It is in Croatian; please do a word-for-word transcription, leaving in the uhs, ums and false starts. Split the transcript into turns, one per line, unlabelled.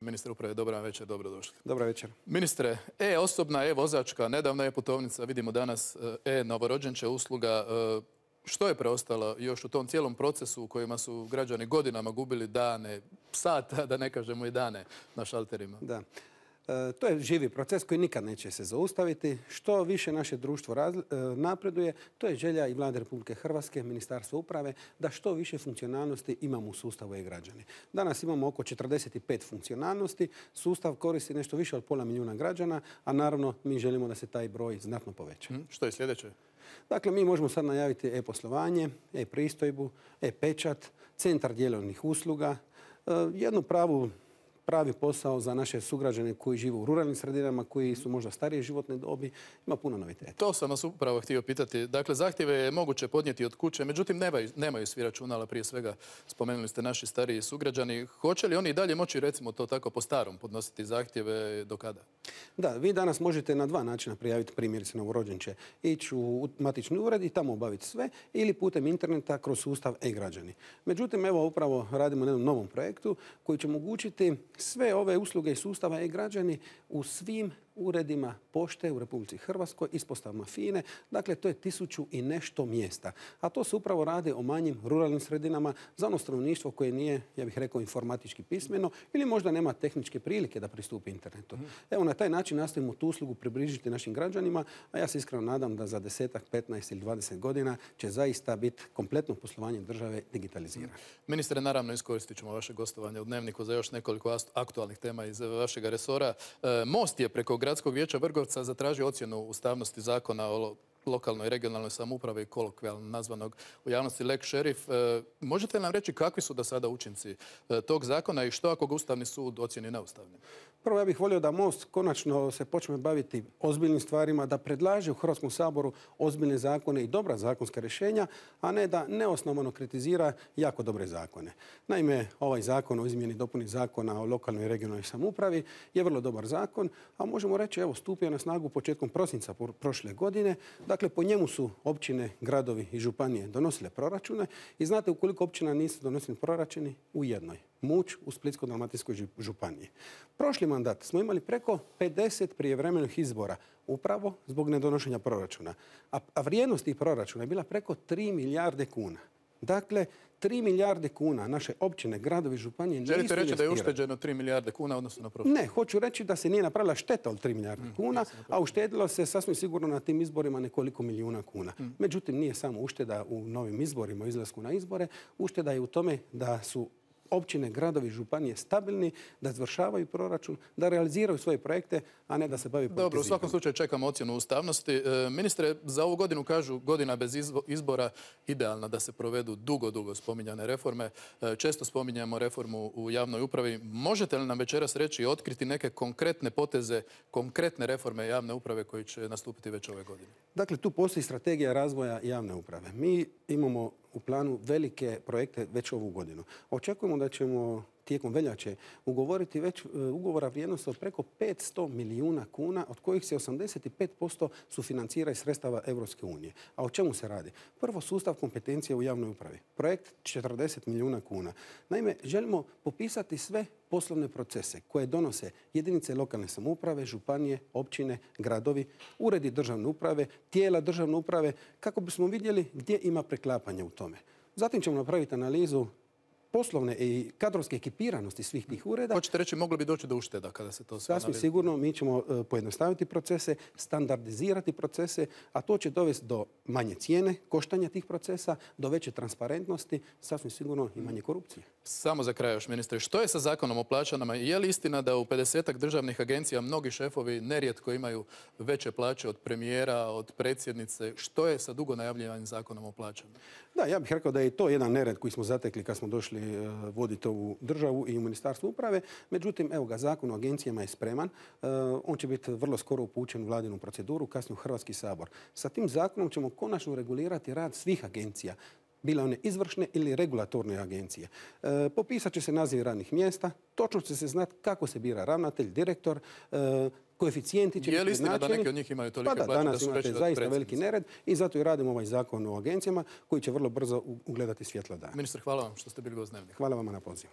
Ministre uprave, dobra večer, dobrodošli.
Dobra večer.
Ministre, e-osobna, e-vozačka, nedavna e-putovnica, vidimo danas e-novorođenče usluga. Što je preostalo još u tom cijelom procesu u kojima su građani godinama gubili dane, sata, da ne kažemo i dane na šalterima?
Da. E, to je živi proces koji nikad neće se zaustaviti. Što više naše društvo raz, e, napreduje, to je želja i Vlade Republike Hrvatske, Ministarstva uprave, da što više funkcionalnosti imamo u sustavu e-građani. Danas imamo oko četrdeset pet funkcionalnosti, sustav koristi nešto više od pola milijuna građana, a naravno mi želimo da se taj broj znatno poveća.
Hmm, što je sljedeće?
Dakle, mi možemo sad najaviti e-poslovanje, e-pristojbu, e-pečat, centar dijelovnih usluga, e, jednu pravu pravi posao za naše sugrađane koji žive u ruralnim sredinama, koji su možda starije životne dobi. Ima puno noviteta.
To sam vas upravo htio pitati. Dakle, zahtjeve je moguće podnijeti od kuće, međutim nemaju, nemaju svi računala, prije svega spomenuli ste naši stariji sugrađani. Hoće li oni i dalje moći, recimo to tako po starom, podnositi zahtjeve do kada?
Da, vi danas možete na dva načina prijaviti primjerice novorođenče. Ići u matični ured i tamo obaviti sve ili putem interneta kroz sustav e-građani. Međutim, evo upravo radimo na jednom novom projektu koji će omogućiti sve ove usluge i sustava e-građani u svim uredima pošte u Republici Hrvatskoj, ispostavama FINE. Dakle, to je tisuću i nešto mjesta. A to se upravo radi o manjim ruralnim sredinama za ono stanovništvo koje nije, ja bih rekao, informatički pismeno ili možda nema tehničke prilike da pristupi internetu. Mm. Evo, na taj način nastojimo tu uslugu približiti našim građanima, a ja se iskreno nadam da za desetak, petnaest ili dvadeset godina će zaista biti kompletno poslovanje države digitalizirano. Mm.
Ministre, naravno iskoristit ćemo vaše gostovanje u Dnevniku za još nekoliko aktualnih tema iz vašeg resora. E, Most je preko Gradskog vijeća Vrgorca zatražio ocjenu ustavnosti zakona o lokalnoj i regionalnoj samoupravi i kolokvijalno nazvanog u javnosti lex šerif. E, možete li nam reći kakvi su do sada učinci e, tog zakona i što ako ga Ustavni sud ocjeni neustavnim?
Prvo, ja bih volio da Most konačno se počne baviti ozbiljnim stvarima, da predlaže u Hrvatskom saboru ozbiljne zakone i dobra zakonska rješenja, a ne da neosnovano kritizira jako dobre zakone. Naime, ovaj zakon o izmjeni i dopuni zakona o lokalnoj i regionalnoj samoupravi je vrlo dobar zakon, a možemo reći, evo, stupio na snagu početkom prosinca prošle godine. Dakle, po njemu su općine, gradovi i županije donosile proračune i znate u koliko općina nisu donosili proračuni? U jednoj. Muć u Splitsko-dalmatinskoj županiji. Prošli mandat smo imali preko pedeset prijevremenih izbora upravo zbog nedonošenja proračuna. A, a vrijednost tih proračuna je bila preko tri milijarde kuna. Dakle, tri milijarde kuna naše općine, gradovi, županije nisu
investirali. Želite reći da je
investirali.
ušteđeno tri milijarde kuna odnosno na proračun?
Ne, hoću reći da se nije napravila šteta od tri milijarde mm, kuna, a uštedilo se sasvim sigurno na tim izborima nekoliko milijuna kuna. Mm. Međutim, nije samo ušteda u novim izborima, u izlasku na izbore. Ušteda je u tome da su općine, gradovi, županije stabilni, da izvršavaju proračun, da realiziraju svoje projekte, a ne da se bavi politiziranjem.
Dobro, u svakom slučaju čekamo ocjenu ustavnosti. E, ministre, za ovu godinu kažu godina bez izbora idealna da se provedu dugo, dugo spominjane reforme. E, često spominjamo reformu u javnoj upravi. Možete li nam večeras reći i otkriti neke konkretne poteze, konkretne reforme javne uprave koji će nastupiti već ove godine?
Dakle, tu postoji strategija razvoja javne uprave. Mi imamo u planu velike projekte već ovu godinu. Očekujemo da ćemo tijekom veljače ugovoriti već ugovora vrijednosti od preko petsto milijuna kuna, od kojih se osamdeset pet posto sufinancira iz sredstava Europske unije. A o čemu se radi? Prvo, sustav kompetencije u javnoj upravi. Projekt četrdeset milijuna kuna. Naime, želimo popisati sve poslovne procese koje donose jedinice lokalne samouprave, županije, općine, gradovi, uredi državne uprave, tijela državne uprave, kako bismo vidjeli gdje ima preklapanja u tome. Zatim ćemo napraviti analizu poslovne i kadrovske ekipiranosti svih tih ureda.
Hoćete reći, moglo bi doći do ušteda kada se to sve
analizira? Sasvim sigurno, mi ćemo pojednostaviti procese, standardizirati procese, a to će dovesti do manje cijene, koštanja tih procesa, do veće transparentnosti, sasvim sigurno i manje korupcije.
Samo za kraj još, ministre, što je sa zakonom o plaćama? Je li istina da u pedesetak državnih agencija mnogi šefovi nerijetko imaju veće plaće od premijera, od predsjednice? Što je sa dugo najavljivanim zakonom o plaćama?
Da, ja bih rekao da je to jedan nered koji smo zatekli kad smo došli voditi ovu državu i u Ministarstvu uprave. Međutim, evo ga, zakon o agencijama je spreman. On će biti vrlo skoro upućen u vladinu proceduru, kasnije u Hrvatski sabor. Sa tim zakonom ćemo konačno regulirati rad svih agencija, bile one izvršne ili regulatorne agencije. E, popisat će se naziv radnih mjesta, točno će se znati kako se bira ravnatelj, direktor, e, koeficijenti će biti
je li istina da neki od njih imaju tolike
pa da,
plaće
danas
da su
imate
veći
zaista veliki nered i zato i radimo ovaj zakon o agencijama koji će vrlo brzo ugledati svjetlo dana.
Ministar, hvala vam što ste bili gost Dnevnika.
Hvala vama na pozivu.